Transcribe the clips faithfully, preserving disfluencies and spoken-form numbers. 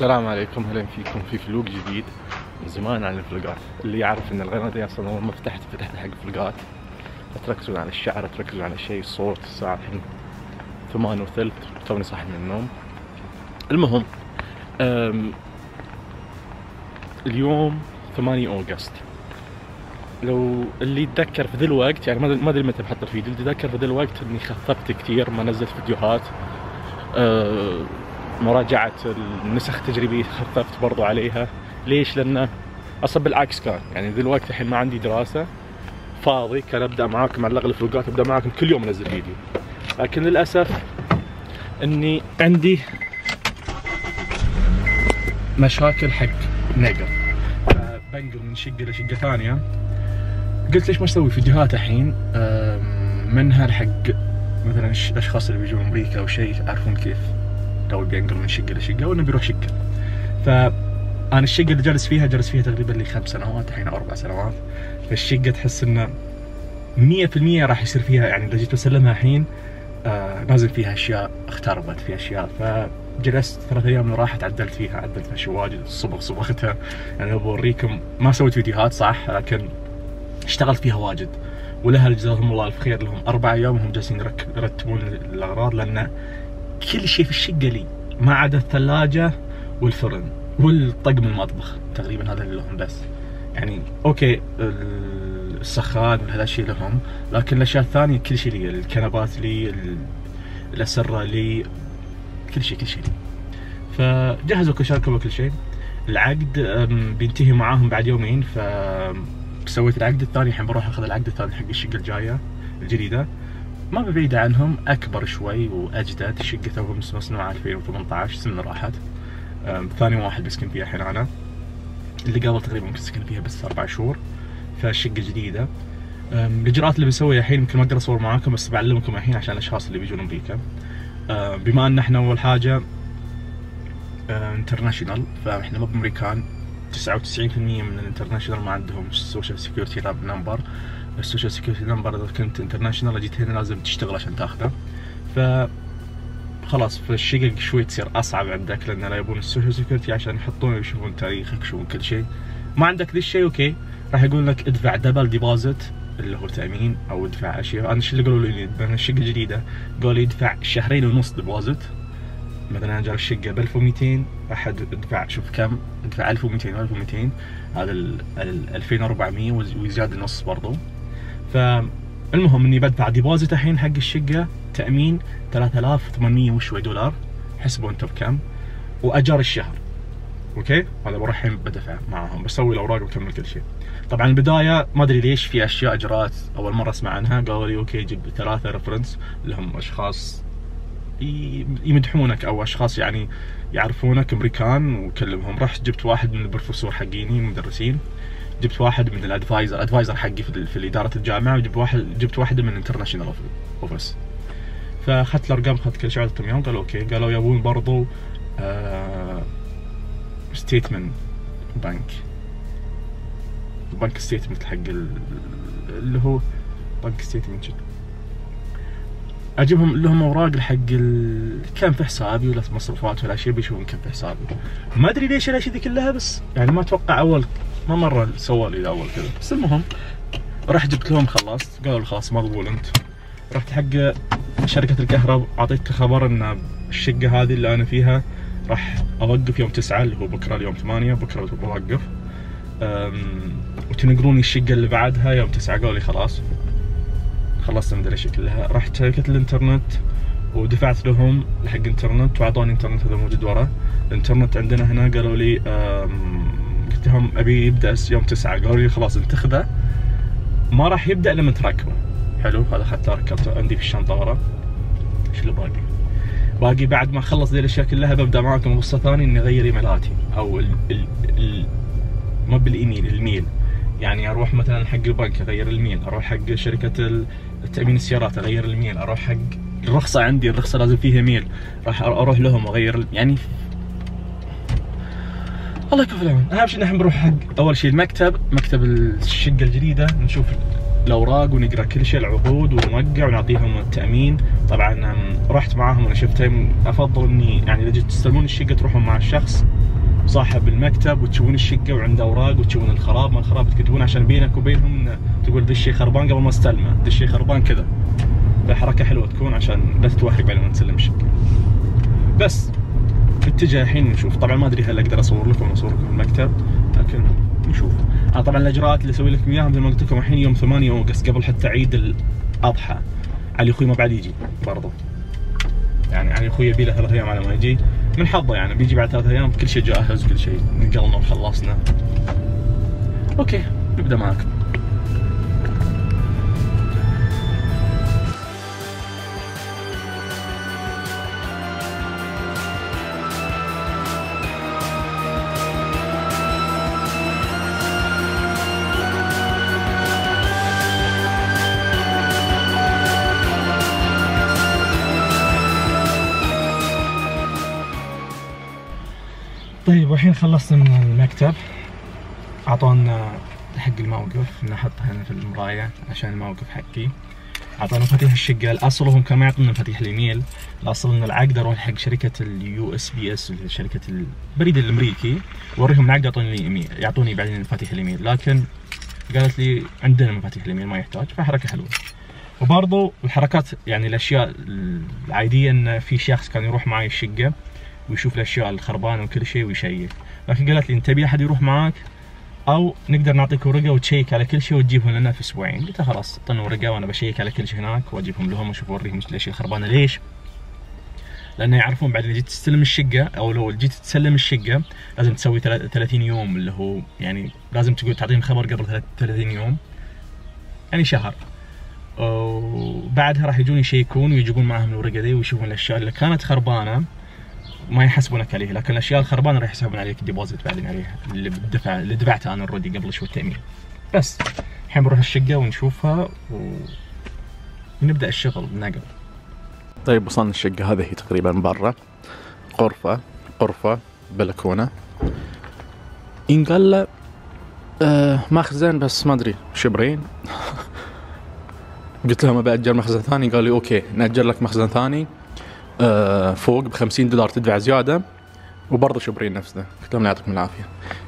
السلام عليكم، اهلا فيكم في فلوق جديد. من زمان عن الفلوقات، اللي يعرف ان القناة دي اصلا اول ما فتحت فتحت حق فلوقات. تركزون على الشعر، تركزون على شيء، الصوت. الساعة الحين ثمان وثلث، توني صاحي من النوم. المهم اليوم ثمانية أوغست. لو اللي يتذكر في ذي الوقت، يعني ما ادري متى بحط الفيديو، اللي يتذكر في ذي الوقت اني خففت كثير، ما نزلت فيديوهات. أه مراجعة النسخ التجريبية خففت برضو عليها. ليش؟ لأنه أصلا بالعكس كان يعني ذي الوقت الحين ما عندي دراسة، فاضي، كان أبدأ معاكم على الأغلب الفلوقات، أبدأ معاكم كل يوم أنزل فيديو. لكن للأسف إني عندي مشاكل حق نقل، فبنقل من شقة لشقة ثانية. قلت ليش ما أسوي فيديوهات الحين منها الحق مثلا الأشخاص اللي بيجون أمريكا أو شيء، يعرفون كيف لو بينقل من شقة لشقة وإنه بيروح شقة. فأنا الشقة اللي جالس فيها جالس فيها تقريبا لي خمس سنوات الحين أو أربع سنوات. فالشقة تحس إنه مية في المية راح يصير فيها، يعني إذا جيت بسلمها الحين آه نازل فيها أشياء، اختربت في أشياء. فجلست ثلاث أيام اللي راحت عدلت فيها، عدلت فيها شي واجد، الصبغ صبغتها. يعني بوريكم، ما سويت فيديوهات صح، لكن اشتغلت فيها واجد. ولها جزاهم الله الف خير، لهم أربع أيام وهم جالسين يرتبون الأغراض، لأن كل شيء في الشقة لي ما عدا الثلاجة والفرن والطقم المطبخ، تقريبا هذا اللي لهم بس. يعني اوكي السخان وهذا الشيء لهم، لكن الاشياء الثانية كل شيء لي، الكنبات لي، الأسرة لي، كل شيء كل شيء لي. فجهزوا كل شيء كل شيء. العقد بينتهي معاهم بعد يومين، ف سويت العقد الثاني. الحين بروح اخذ العقد الثاني حق الشقة الجاية الجديدة، ما بعيدة عنهم، أكبر شوي وأجدد. الشقة توهم مصنوعة ألفين وثمانية عشر، سنة راحت. ثاني واحد بسكن فيها الحين أنا، اللي قبل تقريبا ممكن سكن فيها بس أربع شهور. فالشقة جديدة. الإجراءات اللي بسويها الحين يمكن ما أقدر أصور معاكم، بس بعلمكم الحين عشان الأشخاص اللي بيجون أمريكا. بما أن إحنا أول حاجة انترناشونال، فإحنا مو بأمريكان. تسعة وتسعين في المية من الانترناشونال ما عندهم السوشيال سيكيورتي نمبر. السوشيال سيكيورتي نمبر اذا كنت انترناشونال جيت هنا لازم تشتغل عشان تاخذه. ف خلاص فالشقق شوي تصير اصعب عندك، لان لا يبون السوشيال سيكيورتي عشان يحطون يشوفون تاريخك، يشوفون كل شيء. ما عندك ذا الشيء اوكي، راح يقول لك ادفع دبل ديبوزيت اللي هو تامين، او ادفع اشياء. انا ايش اللي قالوا لي؟ مثلا الشقه جديده قالوا لي ادفع شهرين ونص ديبوزيت. مثلا انا جاب الشقه ب ألف ومئتين، راح ادفع شوف كم، ادفع ألف ومئتين ألف ومئتين، هذا ال ألفين وأربعمية وزياده نص برضو. فالمهم اني بدفع ديبوزيت الحين حق الشقه، تامين ثلاثة آلاف وثمانمئة وشوي دولار، حسبوا انتم بكم، واجار الشهر. اوكي هذا بروح الحين بدفع معاهم، بسوي الاوراق وبكمل كل شيء. طبعا البدايه ما ادري ليش في اشياء اجراءات اول مره اسمع عنها. قالوا لي اوكي جيب ثلاثه ريفرنس اللي هم اشخاص يمدحونك او اشخاص يعني يعرفونك امريكان، وكلمهم. رحت جبت واحد من البروفيسور حقيني المدرسين، جبت واحد من الادفايزر ادفايزر حقي في, في اداره الجامعه، وجبت واحد جبت واحده من الانترناشونال اوفيس. فاخذت الارقام، اخذت كل شيء، عطيتهم اياهم. قالوا اوكي. قالوا يبون برضو آه ستيتمنت بنك بنك ستيتمنت حق اللي هو بنك ستيتمنت، اجيبهم لهم اوراق حق كم في حسابي ولا مصروفات ولا شيء، بيشوفون كم في حسابي. ما ادري ليش الاشياء ذي كلها، بس يعني ما اتوقع اول ما مره سووا لي اول كذا. بس المهم رحت جبت لهم، خلصت. قالوا خلاص مقبول انت. رحت حق شركه الكهرباء، اعطيتك خبر ان الشقه هذه اللي انا فيها راح اوقف يوم تسعة، اللي هو بكره. اليوم ثمانية، بكره بوقف، وتنقلوني الشقه اللي بعدها يوم تسعة. قالوا لي خلاص خلصت من الاشياء كلها. رحت شركة الانترنت ودفعت لهم حق انترنت، واعطوني انترنت هذا موجود ورا. الانترنت عندنا هنا قالوا لي قلت لهم ابي يبدا يوم تسعة. قالوا لي خلاص انت تاخذه، ما راح يبدا لما تركبه. حلو، هذا اخذته ركبته عندي في الشنطه ورا. ايش اللي باقي؟ باقي بعد ما اخلص ذي الاشياء كلها ببدا معكم قصه ثانيه، اني اغير ايميلاتي او ال ال ال ما بالايميل، الميل. يعني اروح مثلا حق البنك اغير الميل، اروح حق شركه التامين السيارات اغير الميل، اروح حق الرخصه، عندي الرخصه لازم فيها ميل، راح اروح لهم اغير. يعني الله يكفي العون. اهم شيء نحن بنروح حق اول شيء المكتب، مكتب الشقه الجديده، نشوف الاوراق ونقرا كل شيء، العقود، ونوقع ونعطيهم التامين. طبعا رحت معاهم وانا شفتهم. افضل اني يعني اذا جيت تستلمون الشقه تروحون مع الشخص صاحب المكتب وتشوفون الشقه وعنده اوراق وتشوفون الخراب ما الخراب تكتبون عشان بينك وبينهم تقول ذا الشيء خربان قبل ما استلمه، ذا الشيء خربان كذا. فحركه حلوه تكون عشان لا تتوهق بعد ما تسلم الشقه. بس نتجه الحين نشوف. طبعا ما ادري هل اقدر اصور لكم اصور لكم المكتب، لكن نشوف. انا طبعا الاجراءات اللي اسوي لكم اياها مثل ما قلت لكم الحين يوم ثمانية اوغست قبل حتى عيد الاضحى. علي اخوي ما بعد يجي برضه، يعني علي اخوي يبي له ثلاث ايام على ما يجي، من حظه يعني بيجي بعد ثلاث ايام كل شيء جاهز وكل شيء نقلنا وخلصنا. اوكي نبدا معاكم. طيب والحين خلصنا من المكتب، اعطونا حق الموقف نحطه هنا في المراية عشان الموقف حقي. اعطونا مفاتيح الشقة. الاصل هم كانوا ما يعطونا مفاتيح الايميل، الاصل ان العقد اروح حق شركة اليو اس بي اس شركة البريد الامريكي واوريهم العقد يعطوني الايميل، يعطوني بعدين مفاتيح الايميل، لكن قالت لي عندنا مفاتيح الايميل ما يحتاج، فحركة حلوة. وبرضو الحركات يعني الاشياء العادية ان في شخص كان يروح معي الشقة ويشوف الاشياء الخربانه وكل شيء ويشيك، لكن قالت لي انت تبي احد يروح معاك او نقدر نعطيك ورقه وتشيك على كل شيء وتجيبهم لنا في اسبوعين. قلت خلاص اعطوني ورقه وانا بشيك على كل شيء هناك واجيبهم لهم واشوف اوريهم الاشياء الخربانه. ليش؟ لانه يعرفون بعد اللي جيت تستلم الشقه او لو جيت تسلم الشقه لازم تسوي ثلاثين يوم، اللي هو يعني لازم تقول تعطيهم خبر قبل ثلاثين يوم، يعني شهر. وبعدها راح يجون يشيكون ويجيبون معهم الورقه دي ويشوفون الاشياء اللي كانت خربانه ما يحسبونك عليه، لكن الاشياء الخربانه راح يحسبون عليك الديبوزيت بعدين عليها اللي بدفع اللي دفعته انا اوريدي قبل شوي التامين. بس الحين بنروح الشقه ونشوفها ونبدا الشغل نقل. طيب وصلنا الشقه، هذه هي تقريبا برا، غرفه غرفه بلكونه، ينقال له آه مخزن بس ما ادري شبرين. قلت لهم ابي اجر مخزن ثاني، قال لي اوكي ناجر لك مخزن ثاني آه فوق ب خمسين دولار تدفع زياده وبرضه شبرين نفسه. قلت لهم لا يعطيكم العافيه،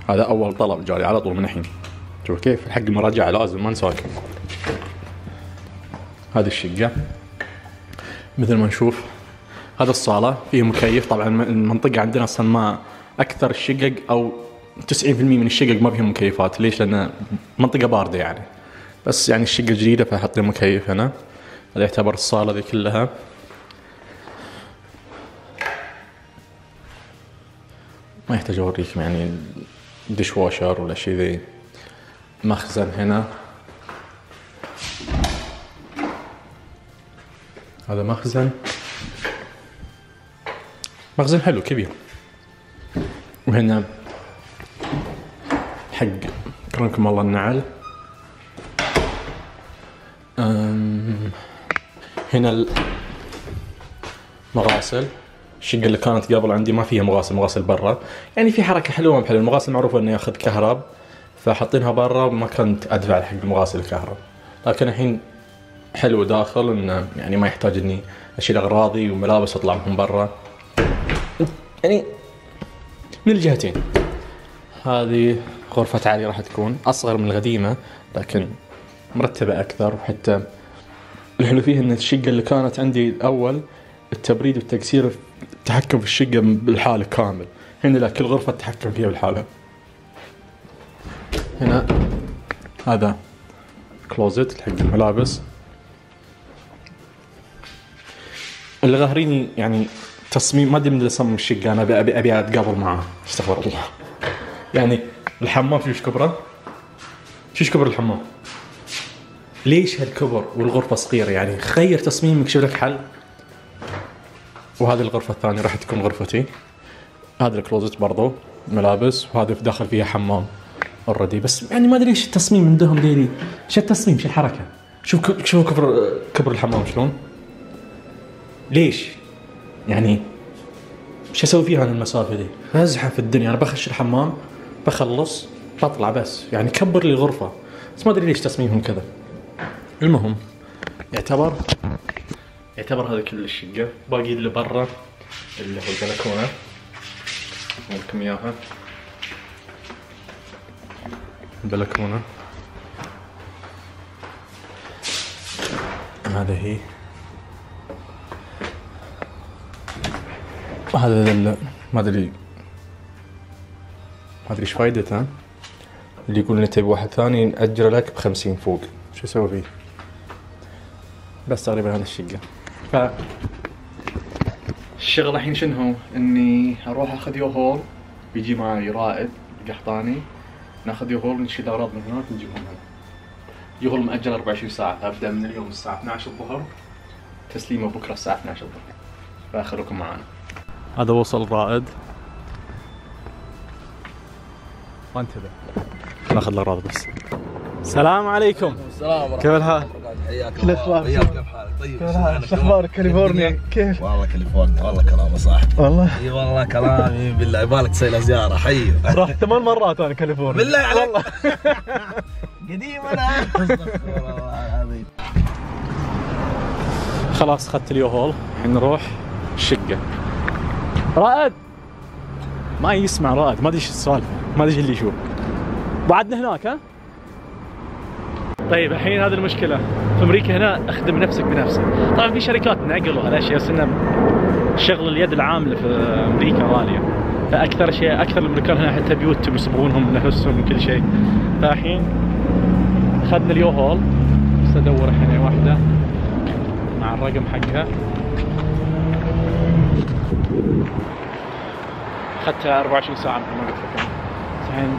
هذا اول طلب جالي على طول من الحين. شوف كيف حق المراجعه لازم ما نساكن. هذه الشقه مثل ما نشوف، هذا الصاله فيه مكيف. طبعا المنطقه عندنا اصلا ما اكثر الشقق او تسعين بالمئة من الشقق ما فيهم مكيفات. ليش؟ لان منطقه بارده يعني، بس يعني الشقه جديده فحط لي مكيف هنا. هذا يعتبر الصاله ذي كلها. ما يحتاج اوريكم يعني ديش واشر ولا شيء ذي. مخزن هنا، هذا مخزن مخزن حلو كبير. وهنا حق كرمكم الله النعل. هنا المغاسل. الشقة اللي كانت قبل عندي ما فيها مغاسل، مغاسل برا. يعني في حركة حلوة بحلو. المغاسل معروفة انه ياخذ كهرب، فحاطينها برا وما كنت ادفع حق المغاسل الكهرب. لكن الحين حلو داخل انه يعني ما يحتاج اني اشيل اغراضي وملابس اطلع من برا، يعني من الجهتين. هذه غرفة علي راح تكون اصغر من القديمة لكن مرتبة اكثر. وحتى الحلو فيها ان الشقة اللي كانت عندي الاول التبريد والتكسير التحكم في الشقة بالحالة كامل، هنا لا كل غرفة تتحكم فيها بالحالة. هنا هذا كلوزت حق الملابس. اللي غاهريني يعني تصميم ما ادري من اللي صمم الشقة، انا ابي ابي ابي اتقابل معاه. استغفر الله. يعني الحمام شوف كبره، شوف كبر الحمام، ليش هالكبر والغرفة صغيرة؟ يعني خير تصميمك شوف لك حل. وهذه الغرفة الثانية راح تكون غرفتي. هذا الكلوزت برضو ملابس، وهذا في داخل فيها حمام اوريدي. بس يعني ما ادري ايش التصميم عندهم ديلي، ايش التصميم، ايش الحركة. شوف شوف كبر كبر الحمام شلون، ليش يعني ايش اسوي فيها انا المسافة دي؟ ازحف في الدنيا. انا بخش الحمام بخلص بطلع بس، يعني كبر لي الغرفة. بس ما ادري ليش تصميمهم كذا. المهم يعتبر يعتبر هذا كل الشقة. باقي اللي برا اللي هو البلكونة، أوريكم إياها. البلكونة هذا هي، وهذا ال ما ادري ما ادري ايش فايدته، اللي يقول لي تبي واحد ثاني نأجره لك بخمسين فوق، شو اسوي فيه؟ بس تقريبا هذا الشقة. ف الشغل الحين شنو هو؟ اني اروح اخذ يوهول، بيجي معي رائد قحطاني، ناخذ يوهول ونشيل اغراض من هناك ونجيبهم هنا. يوهول مأجل أربعة وعشرين ساعة، ابدا من اليوم الساعة اثني عشر الظهر، تسليمه بكره الساعة اثني عشر الظهر. فاخليكم معانا. هذا وصل الرائد. وانتبه. ناخذ الاغراض بس. السلام عليكم. السلام ورحمة كيف الحال؟ حياك الله. الاخبار؟ كيف حالك؟ طيب. كيف الحال؟ شو اخبارك؟ كاليفورنيا كيف؟ والله كاليفورنيا والله كلامه صح. والله؟ اي والله كلامي بالله يبالك تسوي له زيارة. حي. رحت ثمان مرات انا كاليفورنيا. بالله عليك. والله. قديم انا. خلاص اخذت اليوهول، الحين نروح الشقة. رائد ما يسمع رائد، ما ادري ايش السالفة، ما ادري ايش اللي يشوف. بعدنا هناك ها؟ طيب الحين هذه المشكلة، في امريكا هنا اخدم نفسك بنفسك، طبعا في شركات نقل وهالاشياء، بس انه شغل اليد العاملة في امريكا غالية، فاكثر شيء اكثر الامريكان هنا حتى بيوتهم يصبغونهم بنفسهم وكل شيء. فالحين اخذنا اليوهول، بس ادور الحين واحدة مع الرقم حقها. اخذتها أربعة وعشرين ساعة مثل ما قلت لكم. الحين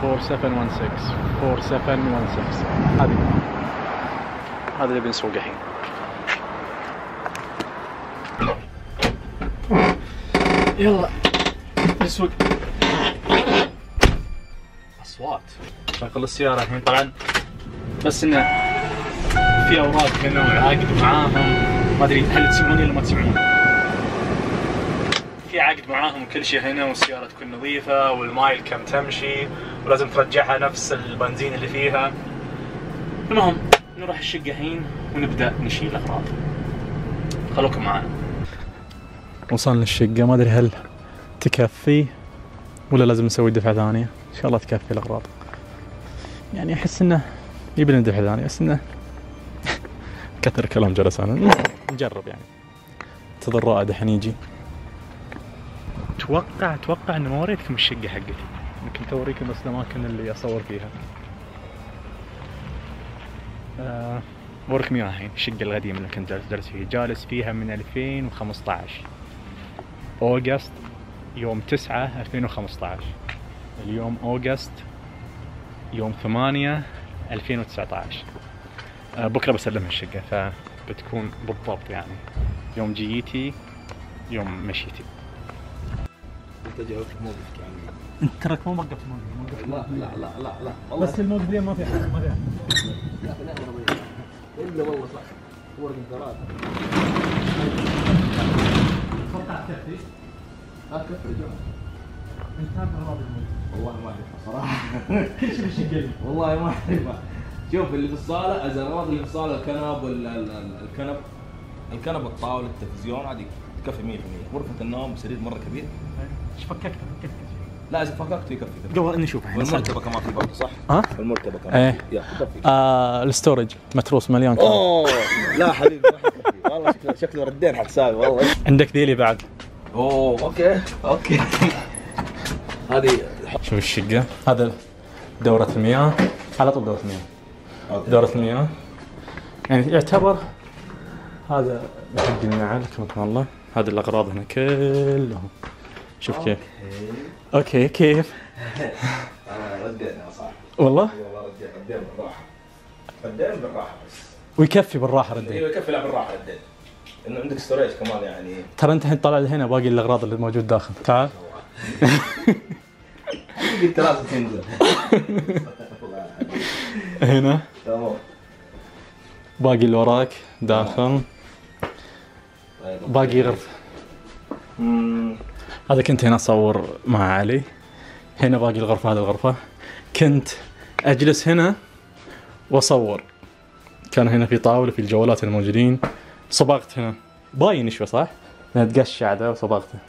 أربعة سبعة واحد ستة أربعة سبعة واحد ستة هذه، هذا اللي بنسوقه الحين. يلا نسوق. اصوات شغل السيارة الحين. طبعا بس انه في اوراق هنا وعاقد معاهم، ما ادري هل تسمعوني ولا ما تسمعون. في عقد معاهم وكل شيء هنا، والسيارة تكون نظيفة والمايل كم تمشي، ولازم ترجعها نفس البنزين اللي فيها. المهم نروح الشقة الحين ونبدأ نشيل الأغراض. خلوكم معنا. وصلنا الشقة، ما ادري هل تكفي ولا لازم نسوي دفعة ثانية. ان شاء الله تكفي الأغراض. يعني احس انه يبي دفعة ثانية، بس انه كثر كلام جلس انا. نجرب يعني. انتظر رائد الحين يجي. اتوقع اتوقع اني ما وريتكم الشقة حقتي، يمكن اوريكم بس الاماكن اللي اصور فيها. آه بوريكم اياها الحين، الشقة القديمة اللي كنت جالس فيها، جالس فيها من ألفين وخمسة عشر اوغست، يوم تسعة ألفين وخمسة عشر، اليوم اوغست يوم ثمانية ألفين وتسعة عشر. آه بكره بسلمها الشقة، فبتكون بالضبط يعني يوم جيتي يوم مشيتي. انت جاوبت موقفك يعني. انت تراك ما وقفت موقف. لا لا لا لا لا والله بس الموقف اليوم ما في حاجه، ما في حاجه. لا لا الا والله صح. ورد ثلاثة. توقعت كفي؟ ها كفي رجال. انت عارف اغراض الموقف؟ والله ما اعرفها صراحة. كل شيء بالشقة. والله ما اعرفها. شوف اللي في الصالة، الأغراض اللي في الصالة، الكنب والكنب الكنب الطاولة التلفزيون، هذه تكفي مية بالمية. غرفة النوم سرير مرة كبير. ايش فككت فككت لا اذا فككت يكفي. قبل نشوف الحين. والمرتبة كمان في برضه صح؟ ها؟ المرتبة كمان. ايه. يا يكفي. آه الستورج متروس مليان كمان. اوه لا حبيبي ما حيكفي. والله شكله شكله ردين حسابي والله. عندك ذيلي بعد. اوه اوكي اوكي. هذه شوف الشقة، هذا دورة المياه، على طول دورة المياه. دورة المياه يعني يعتبر هذا حق النعل كما الله. هذه الأغراض هنا كلهم. شوف كيف. اوكي كيف؟ انا ردينا صح. والله؟ والله ردينا ردينا بالراحة. ردينا بالراحة بس. ويكفي بالراحة ردين. ايوه يكفي لا بالراحة ردين. انه عندك ستوريج كمان يعني. ترى انت الحين طالع هنا باقي الاغراض اللي موجود داخل، تعال. قلت لازم تنزل. هنا تمام. باقي اللي وراك داخل. باقي غرفة. هذا كنت هنا اصور مع علي. هنا باقي الغرفة، هذه الغرفة كنت اجلس هنا واصور. كان هنا في طاولة في الجوالات الموجودين. صبغت هنا باين شوي صح؟ انا تقشع ذا وصبغته.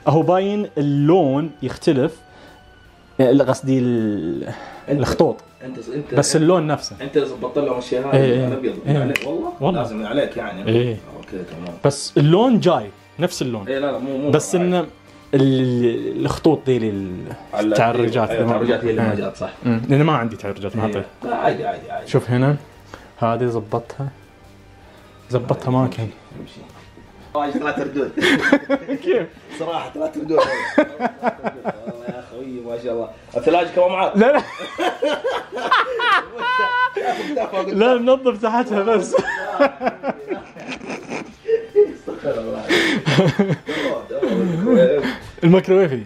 اهو باين اللون يختلف، قصدي الخطوط انت انت بس اللون نفسه. انت اللي ظبطت لهم الاشياء هذه إيه الابيض إيه من عليك والله. والله لازم من عليك يعني. ايه اوكي تمام. بس اللون جاي نفس اللون. ايه لا لا مو مو بس ان ال- الخطوط دي للتعرجات. التعرجات هي اللي ما جات صح. لان ما عندي تعرجات ما حطيت. لا عادي عادي عادي. شوف هنا هذه ظبطتها ظبطها ما كان. امشي. وايد ثلاث ردود. كيف؟ صراحه ثلاث ردود. والله يا اخوي ما شاء الله. الثلاجه كمان معاك؟ لا لا لا منظف تحتها بس. استغفر الله. الميكروويفي.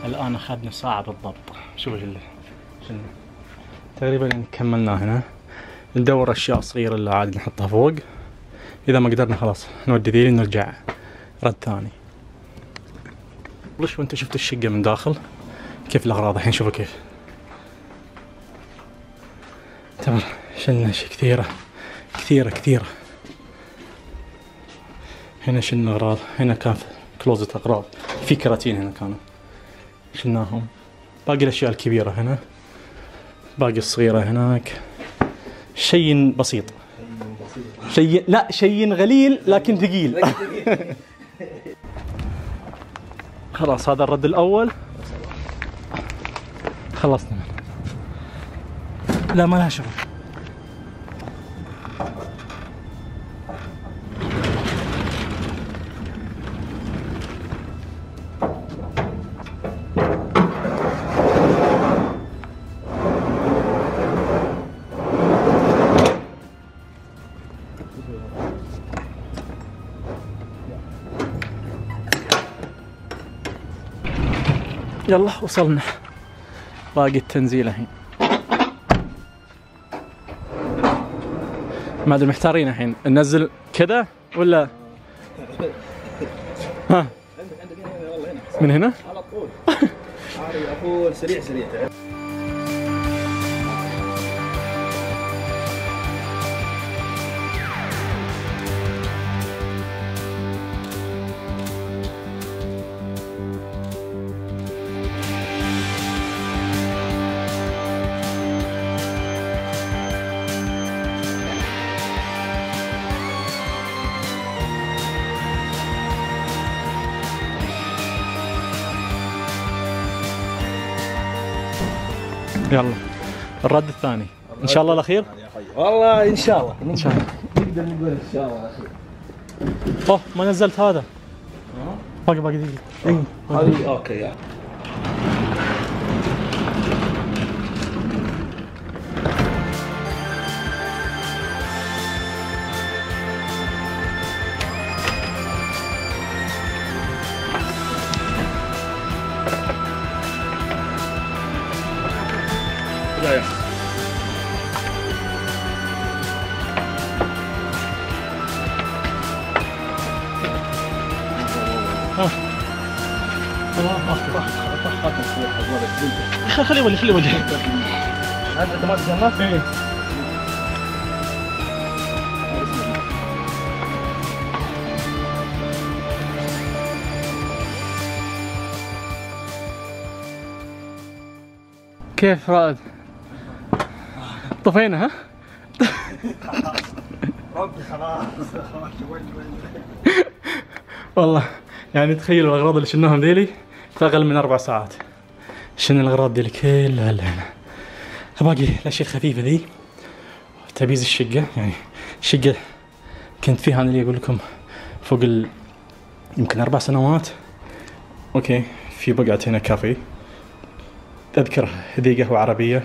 الآن أخذنا ساعة بالضبط. شوف اللي تقريبا كملنا هنا. ندور أشياء صغيرة اللي عاد نحطها فوق. إذا ما قدرنا خلاص نودي ذي نرجع رد ثاني. ليش وأنت شفت الشقة من داخل كيف الأغراض الحين شوفوا كيف. تمام شلنا أشياء كثيرة كثيرة كثيرة. هنا شلنا أغراض. هنا كان كلوزت أغراض في كراتين هنا كانوا شلناهم. باقي الأشياء الكبيرة هنا باقي الصغيرة هناك. شيء بسيط شيء لا شيء غليل لكن ثقيل. خلاص هذا الرد الأول خلصنا. لا ما لها شغل. يلا وصلنا باقي التنزيل الحين. ما ادري محتارين الحين ننزل كذا ولا ها من هنا على طول. على طول سريع سريع. يلا الرد الثاني ان شاء الله الاخير. والله ان شاء الله ان شاء الله نقدر نقول ان شاء الله الاخير. اوه ما نزلت هذا. باقي باقي دقيقة. اي هذه اوكي يعني. يا يا خلي يولي خلي يولي. انت ما تجنبت؟ ايه كيف رائد؟ طفينا ها؟ ربي خلاص. والله يعني تخيل الاغراض اللي شلناهم ذيلي في اقل من اربع ساعات. شلنا الاغراض ذيلي كلها لهنا. باقي الاشياء الخفيفه ذي تبييز الشقه. يعني الشقه كنت فيها انا اللي اقول لكم فوق ال يمكن اربع سنوات. اوكي في بقعه هنا كافي اذكر ذي قهوه عربيه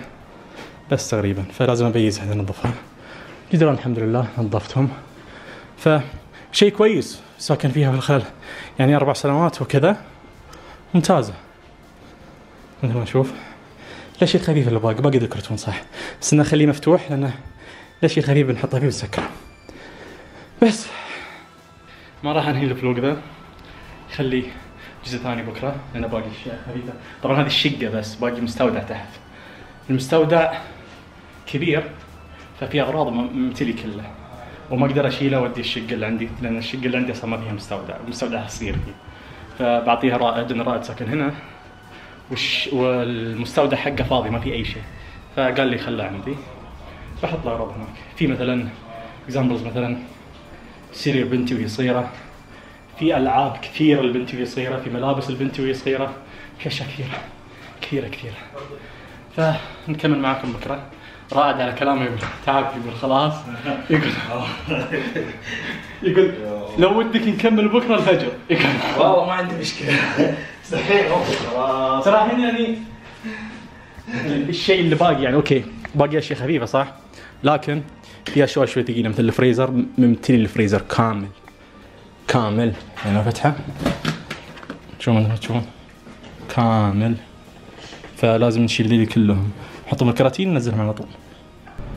بس تقريبا، فلازم ابيزها انظفها. جدران الحمد لله نظفتهم، فشيء كويس ساكن فيها في الخلال يعني اربع سنوات وكذا ممتازه. مثل ما نشوف الاشياء الخفيفه اللي باقي باقي ذكرتون صح، بس انه خليه مفتوح لانه الاشياء الخفيفه بنحطها فيه ونسكره. بس ما راح انهي الفلوق ذا، خليه جزء ثاني بكره لانه باقي اشياء خفيفه. طبعا هذه الشقه بس باقي مستودع تحت. المستودع كبير ففي اغراض ممتلي كله وما اقدر اشيله واودي الشقه اللي عندي لان الشقه اللي عندي اصلا ما فيها مستودع، المستودع صغير فيه، فبعطيها رائد ان رائد ساكن هنا وش والمستودع حقه فاضي ما في اي شيء، فقال لي خله عندي بحط الاغراض هناك. في مثلا اكزامبلز مثلا سرير بنتي وهي صغيره، في العاب كثيره لبنتي وهي صغيره، في ملابس البنت وهي صغيره، في اشياء كثيره كثيره كثيره. فنكمل معاكم بكره. رائد على كلامه يقول تعب، يقول خلاص، يقول يقول لو ودك نكمل بكره الفجر. يقول والله ما عندي مشكله. صحيح خلاص صراحه يعني الشيء اللي باقي يعني اوكي باقي اشياء خفيفه صح، لكن في اشياء شوي ثقيله مثل الفريزر. ممتلي الفريزر كامل كامل يعني فتحه شو ما تشوفون كامل، فلازم نشيل ذي كلهم نحطهم الكراتين ننزلهم على طول.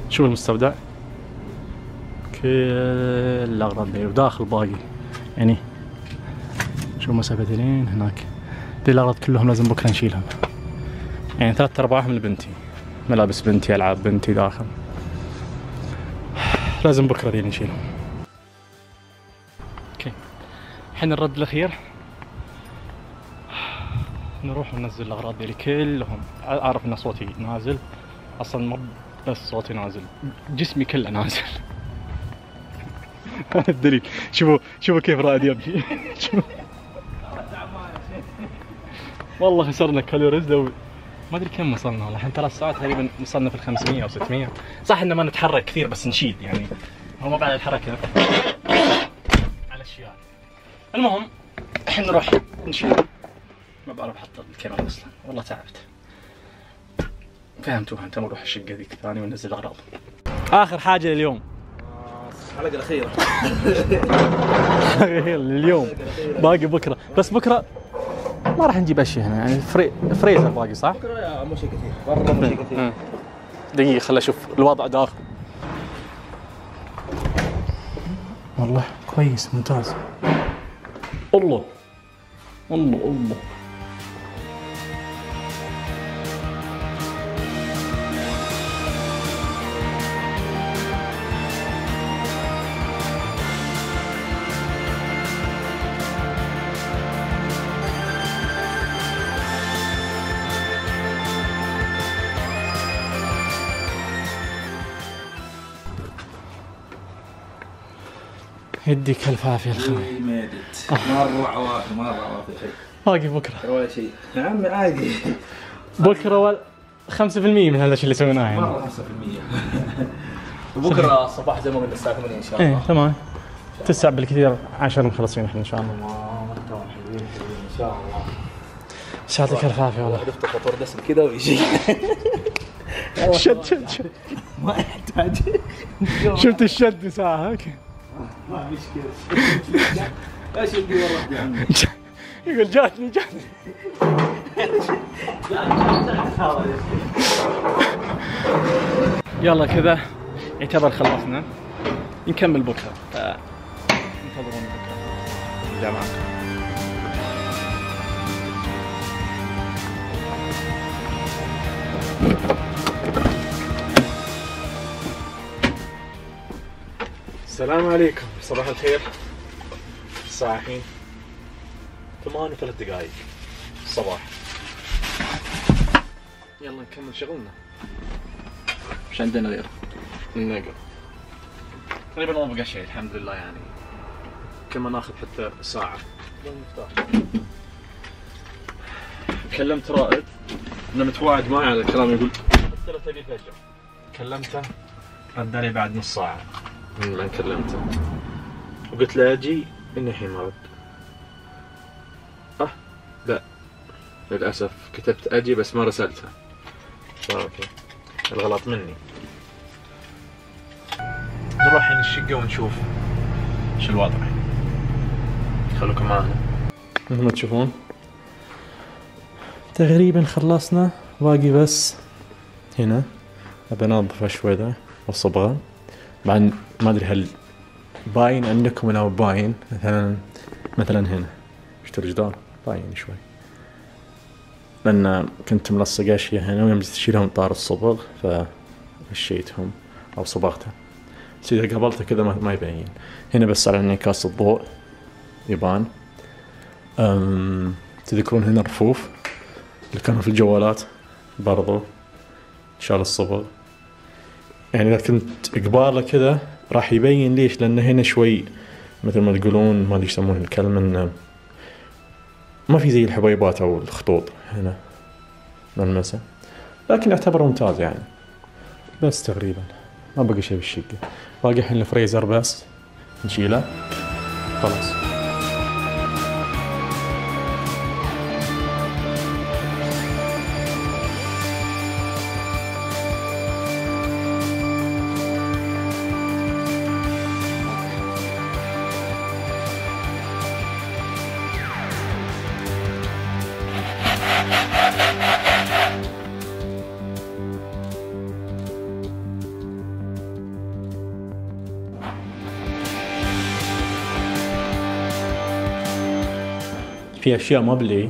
شوف المستودع كل الاغراض ذي وداخل باقي يعني شوف مسافة لين هناك. ذي الاغراض كلهم لازم بكره نشيلهم يعني ثلاث ارباعهم لبنتي، ملابس بنتي، العاب بنتي داخل، لازم بكره ذي نشيلهم. اوكي الحين الرد الاخير نروح وننزل الاغراض ذي كلهم. اعرف ان صوتي نازل اصلا، مو بس صوتي نازل جسمي كله نازل. هذا الدليل. شوفوا شوفوا كيف رائد يمشي. والله خسرنا كالوريز لو ما ادري كم وصلنا والله. الحين ثلاث ساعات تقريبا وصلنا في ال خمسمية او ستمية. صح ان ما نتحرك كثير بس نشيل يعني، هو ما بعد الحركه على الاشياء. المهم الحين نروح نشيل. ما بعرف احط الكاميرا اصلا والله تعبت. فهمتوا انت نروح الشقه ذيك ثاني وننزل الاغراض. اخر حاجه لليوم الحلقه الاخيره. اليوم باقي بكره، بس بكره ما راح نجيب اشياء هنا يعني فري... فريزر باقي صح؟ بكره مو شيء كثير، برا مو شيء كثير. دقيقه خل اشوف الوضع داخل. والله كويس ممتاز. الله الله الله. يديك الف عافيه الخوي. ميدت مره عوافي مره عوافي شيء. باقي بكره ولا شيء يا عمي عادي. بكره ولا خمسة بالمية من هذا الشيء اللي سويناه يعني. مره خمسة بالمية. وبكره الصباح زي ما قلنا الساعه ثمانية ان شاء الله. ايه تمام. تسع بالكثير عشر مخلصين احنا ان شاء الله. ان شاء الله. يعطيك الف عافيه والله. عرفت فطور دسم كذا ويجي. شد شد شد ما يحتاج. شفت الشد ساعة هيك. ما مشكلة. ايش اللي ورد يا عمي؟ يقول جاتني جاتني. يلا كذا يعتبر خلصنا. نكمل بكره. انتظرونا بكره. الجامعة. السلام عليكم، صباح الخير. الساعة الحين ثمان وثلاث دقائق الصباح. يلا نكمل شغلنا. مش عندنا غير النقل. تقريبا ما بقى شيء الحمد لله يعني. كل ما ناخذ حتى ساعة. كلمت رائد انه متواعد معي على الكلام، يقول قلت له تبي فجر. كلمته رد علي بعد نص ساعة من لما كلمته وقلت له اجي، انه الحين ما رد. اه لا للاسف كتبت اجي بس ما رسلته. اوكي الغلط مني. نروح الحين الشقة ونشوف شو الوضع. خلوكم معنا. مثل ما تشوفون تقريبا خلصنا، باقي بس هنا ابى انظفه شوي ذا والصبغة. بعد ما ادري هل باين عندكم ولا باين. مثلا مثلا هنا شفتوا الجدار باين شوي، لان كنت ملصق اشياء هنا ويوم جيت اشيلهم طار الصبغ فمشيتهم او صبغته. بس اذا قابلته كذا ما يبين. هنا بس على انعكاس الضوء يبان. أم... تذكرون هنا الرفوف اللي كانوا في الجوالات برضو شال الصبغ. يعني اذا كنت قباله كذا راح يبين. ليش؟ لان هنا شوي مثل ما تقولون ما ادري يسمون الكلمة، انه ما في زي الحبيبات او الخطوط هنا ملمسه، لكن يعتبر ممتاز يعني. بس تقريبا ما بقى شيء بالشقة. باقي الحين الفريزر بس نشيله خلاص. في اشياء ما بلي،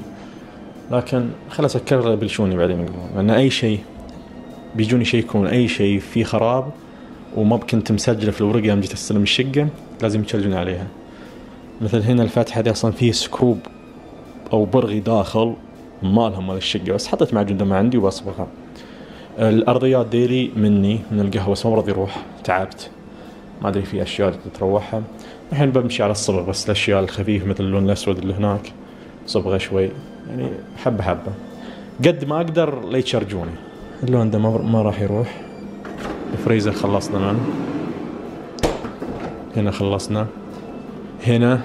لكن خلاص اكرر بلشوني بعدين يقولون، لان اي شيء بيجوني يشيكون اي شيء في خراب وما كنت مسجله في الورقه يوم جيت استلم الشقه لازم يشرجون عليها. مثل هنا الفتحه دي اصلا فيه سكروب او برغي داخل ما لهم مال الشقه، بس حطيت معجون دم عندي وبصبغها. الارضيات ديلي مني من القهوه بس ما راضي يروح، تعبت ما ادري في اشياء تتروحها. الحين بمشي على الصبغ بس الاشياء الخفيفه مثل اللون الاسود اللي هناك صبغه شوي يعني حبه حبه قد ما اقدر لا يتشرجوني. اللون ده ما راح يروح. الفريزر خلصنا منه. هنا خلصنا. هنا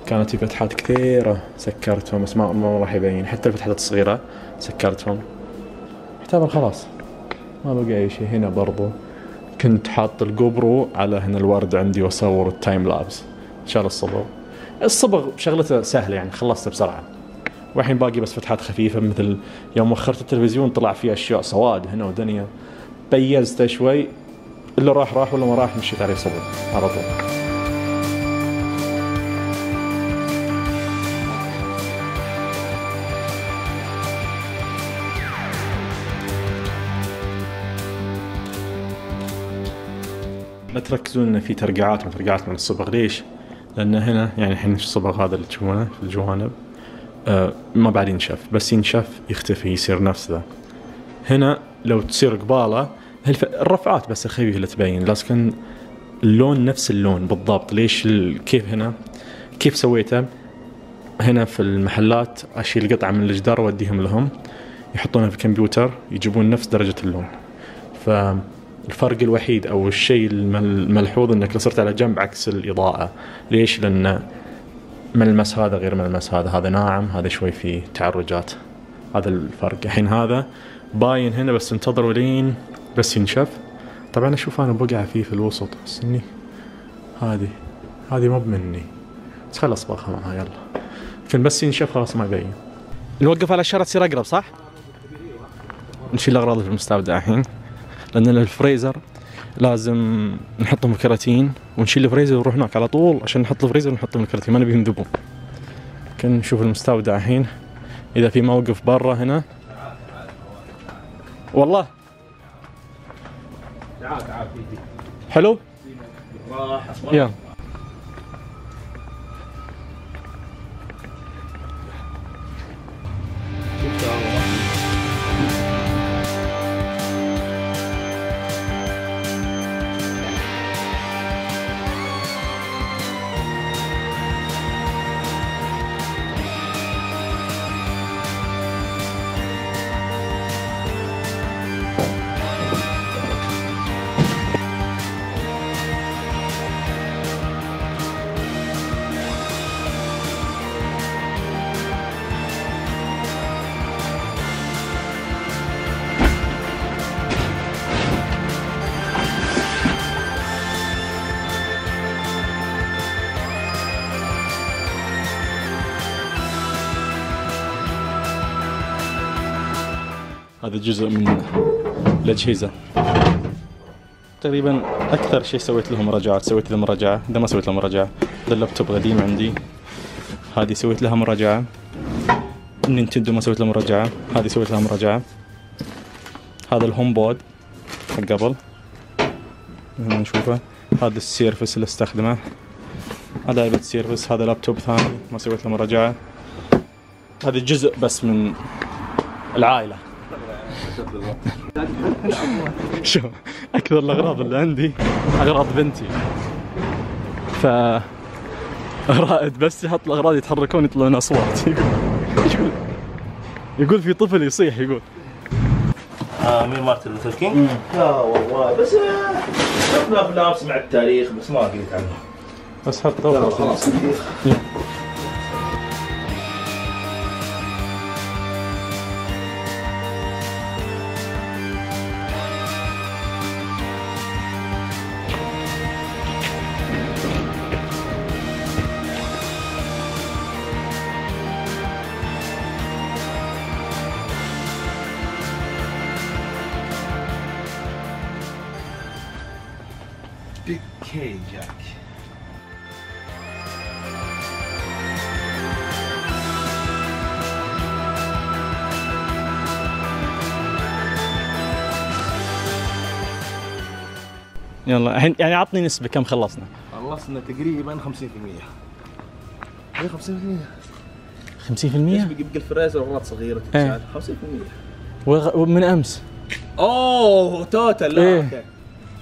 كانت في فتحات كثيره سكرتهم بس ما ما راح يبين، حتى الفتحات الصغيره سكرتهم. يعتبر خلاص ما بقى اي شيء. هنا برضو كنت حاط الجوبرو على هنا الورد عندي واصور التايم لابس. شال الصبغ. الصبغ شغلته سهله يعني خلصته بسرعه. والحين باقي بس فتحات خفيفه مثل يوم وخرت التلفزيون طلع فيه اشياء سواد هنا ودنيا، بيزته شوي. اللي راح راح ولا ما راح مشيت عليه صبغ على طول. لا تركزون ان في ترقعات وترقعات من الصبغ. ليش؟ لان هنا يعني الحين الصبغ هذا اللي تشوفونه في الجوانب آه ما بعد ينشف، بس ينشف يختفي يصير نفس ذا. هنا لو تصير قباله الرفعات بس الخفيفه اللي تبين، لكن اللون نفس اللون بالضبط. ليش كيف هنا كيف سويته؟ هنا في المحلات اشيل قطعه من الجدار واديهم لهم يحطونها في الكمبيوتر يجيبون نفس درجه اللون. ف الفرق الوحيد او الشيء الملحوظ انك لو صرت على جنب عكس الاضاءة. ليش؟ لان ملمس هذا غير ملمس هذا، هذا ناعم هذا شوي فيه تعرجات، هذا الفرق. الحين هذا باين هنا بس انتظروا لين بس ينشف. طبعا اشوف انا بقع فيه في الوسط بس اني هذه هذه مو مني، بس خلاص باخذ معها يلا، لكن بس ينشف خلاص ما يبين. نوقف على الشارع تصير اقرب صح؟ نشيل الاغراض في المستودع الحين لان الفريزر لازم نحطهم في كراتين ونشيل الفريزر ونروح هناك على طول عشان نحط الفريزر ونحطهم في الكراتين، ما نبي ينذبون. كن نشوف المستودع الحين اذا في موقف برا هنا. والله تعال تعال في حلو راح يلا. هذا جزء من الأجهزة تقريبا. أكثر شيء سويت لهم مراجعات، سويت لهم مراجعة، إذا ما سويت لهم مراجعة هذا اللابتوب قديم عندي، هذه سويت لها مراجعة. النينتندو ما سويت لها مراجعة، هذه سويت لها مراجعة. هذا الهوم بود حق قبل هنا نشوفه، هذا السيرفس اللي استخدمه، هذا علبة سيرفس. هذا لابتوب ثاني ما سويت له مراجعة. هذا جزء بس من العائلة. شو أكثر الأغراض اللي عندي أغراض بنتي، ف رائد بس يحط الأغراض يتحركون يطلعون أصوات. يقول يقول يقول في طفل يصيح يقول. آه مين مارتن لوثر كينج؟ لا والله بس شفنا أفلام سمعت تاريخ بس ما قريت عنه. بس حط طوفة خلاص. Big K Jack. يلا الحين يعني عطني نسبة كم خلصنا؟ خلصنا تقريبا خمسين بالمية. ايه خمسين بالمية. خمسين بالمية؟ بقى الفريزر اغراض صغيرة تتشال. خمسين بالمية. ومن امس؟ اوه توتال. لا إيه؟ اوكي.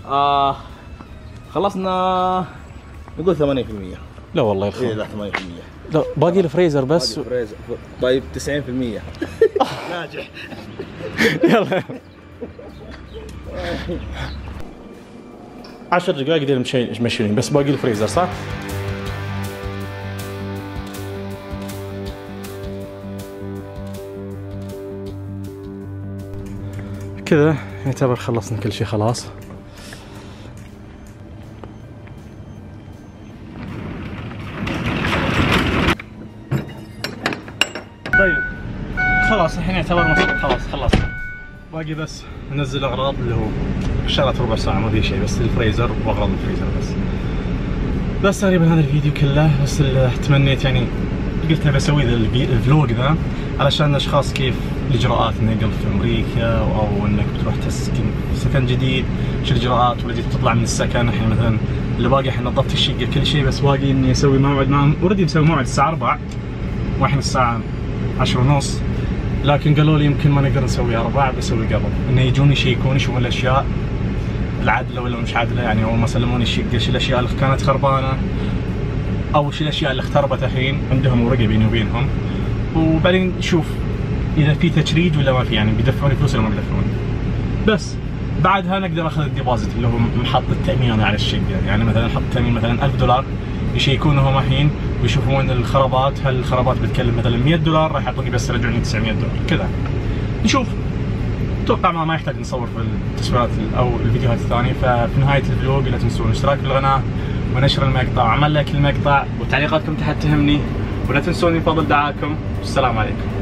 آه خلصنا نقول ثمانين بالمية. لا والله يا اخي. ايه لا ثمانين بالمية. لا باقي الفريزر بس. باقي الفريزر. طيب تسعين بالمية. ناجح. يلا عشر دقائق دير مشينين بس باقي الفريزر صح؟ كذا يعتبر خلصنا كل شيء خلاص. طيب خلاص الحين يعتبر مفروض خلاص خلصنا. باقي بس ننزل اغراض اللي هو شغلت ربع ساعة ما في شيء بس الفريزر واغراض الفريزر بس. بس تقريبا هذا الفيديو كله بس اللي تمنيت يعني قلت ابي اسوي ذا الفلوج ذا علشان الاشخاص كيف الاجراءات النقل في امريكا او انك بتروح تسكن سكن جديد، شو الاجراءات ولا جيت تطلع من السكن. الحين مثلا اللي باقي الحين نظفت الشقه كل شيء بس باقي اني اسوي موعد معهم. اوريدي مسوي موعد الساعة أربعة والحين الساعة عشرة ونص، لكن قالوا لي يمكن ما نقدر نسوي أربعة بسوي قبل انه يجون يشيكون يشوفون الاشياء العادله ولا مش عادله. يعني اول ما سلموني الشقه شو الاشياء اللي كانت خربانه او شو الاشياء اللي اختربت الحين عندهم ورقه بيني وبينهم، وبعدين نشوف اذا في تشريد ولا ما في، يعني بيدفعوني فلوس ولا ما بيدفعوني. بس بعدها نقدر ناخذ الديبوزيت اللي هو محط التامين على الشقه، يعني مثلا نحط تامين مثلا ألف دولار، يشيكونه الحين ويشوفون الخرابات، هل الخرابات بتكلف مثلا مية دولار، راح يعطوني بس يرجعوني تسعمية دولار كذا. نشوف. اتوقع ما, ما يحتاج نصور في التصويرات او الفيديوهات الثانيه. ففي نهايه الفلوج لا تنسون الاشتراك في القناه ونشر المقطع وعمل لايك للمقطع وتعليقاتكم تحت تهمني، ولا تنسوني بفضل دعاءكم. السلام عليكم.